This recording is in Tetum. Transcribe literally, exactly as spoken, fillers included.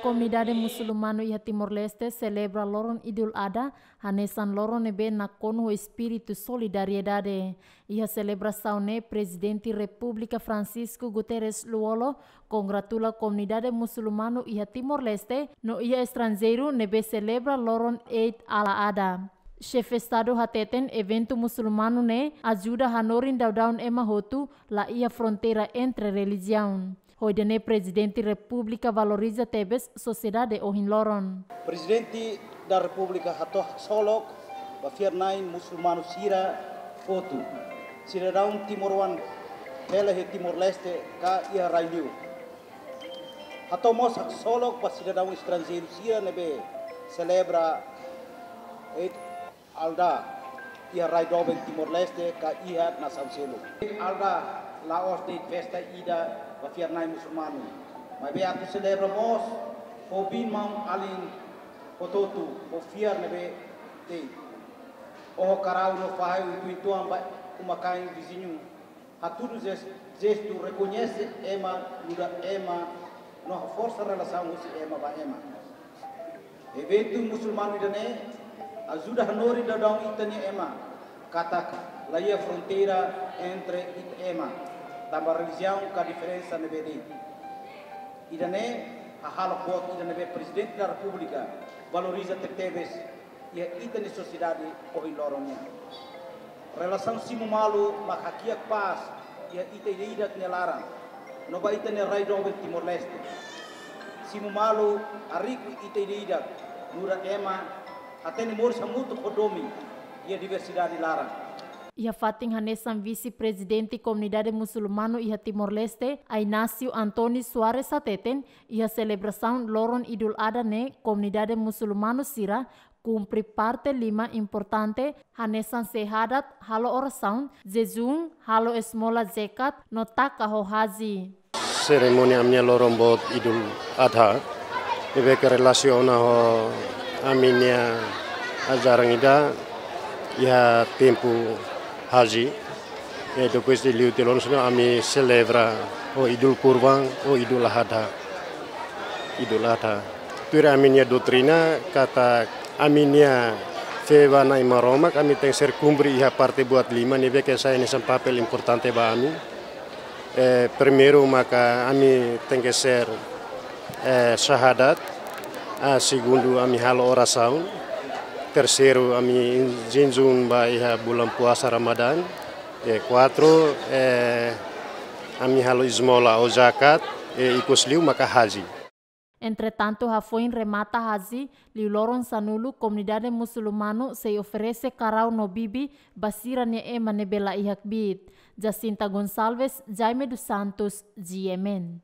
Komunidade musulmanu iha Timor-Leste selebra loron Idul Adha, hanesan loron ne'ebé nakonu ho espíritu solidariedade. Iha selebrasaun ne'e, Prezidente Repúblika Francisco Guterres Lú-Olo kongratula komunidade musulmanu iha Timor-Leste no iha estranjeiru ne'ebé selebra loron Eid al-Adha. Xefe Estadu hateten eventu musulmanu ne'e ajuda hanorin daudaun ema hotu, la iha fronteira entre relijiaun. Ho ida-ne'e Prezidente Repúblika valoriza tebes sosiedade ohin loron. Prezidente da Repúblika hato'o haksolok ba fiar-na'in musulmanu sira hotu, sidadaun timoroan hela iha Timor-Leste ka iha rai-li'ur. Hato'o mós haksolok ba sidadaun estranjeiru sira ne'ebé selebra Eid al-Adha iha rai doben Timor-Leste ka iha nasaun seluk. Eid al-Adha la'ós de'it festa ida ba fiar-na'in musulmanu, maibé atu selebra mós ho biin-maun alin hotu-hotu ho fiar ne'ebé de'it. Oho karau no fahe uitoan ba uma-kain viziñu, hatudu jes-, jestu rekoñese ema, nu'udar ema, no haforsa relasaun husi ema ba ema. Eventu musulmanu ida-ne'e ajuda hanorin daudaun ita-nia ema, katak la iha fronteira entre ita ema, tanba relijiaun ka diferensa ne'ebé de'it. Ida-ne'e hahalok boot ida ne'ebé Prezidente da Repúblika valoriza tebetebes iha ita-nia sosiedade ohin loron nian. Relasaun simu malu mak hakiak pás iha ita ida-idak nia laran, no ba ita-nia rai doben Timor-Leste. Simu malu hariku ita ida-idak, nu'udar ema, hatene moris hamutuk ho domin iha diversidade laran. Iha fatin hanesan, Vise-Prezidente Komunidade Musulmanu iha Timor-Leste, Ainácio António Soares hateten, iha selebrasaun loron Idul Adha ne'e komunidade musulmanu sira kumpre parte lima importante, hanesan syahadat, halo orasaun, jejún, halo esmola zekat, no taka ho haji. Serimónia ami-nia loron boot Idul Adha, ne'ebé ke relasiona ho ami-nia ajaran ida iha tempu haji. E depois de liu tiha loron sira ami selebra ho Idul Kurban, ho Idul Adha. Idul Adha. Tuir ami-nia doutrina, katak ami-nia fé ba Na'i Maromak, ami tenke ser kumpre iha parte buat lima ne'ebé ke sai hanesan papél importante ba ami. Eh, primeiru maka ami tenke ser, eh, syahadat. Ah, segundu ami halo orasaun. Terseiru ami jejún ba iha bulan puasa Ramadan. E kuatru, eh, ami halo esmola ou zakat, e ikus liu maka haji. Entretantu, hafoin remata haji, liu loron sanulu komunidade musulmanu sei oferese karau no bibi ba sira-nia ema ne'ebé la iha kbiit. Jacinta Gonçalves, Jaime dos Santos, G M N.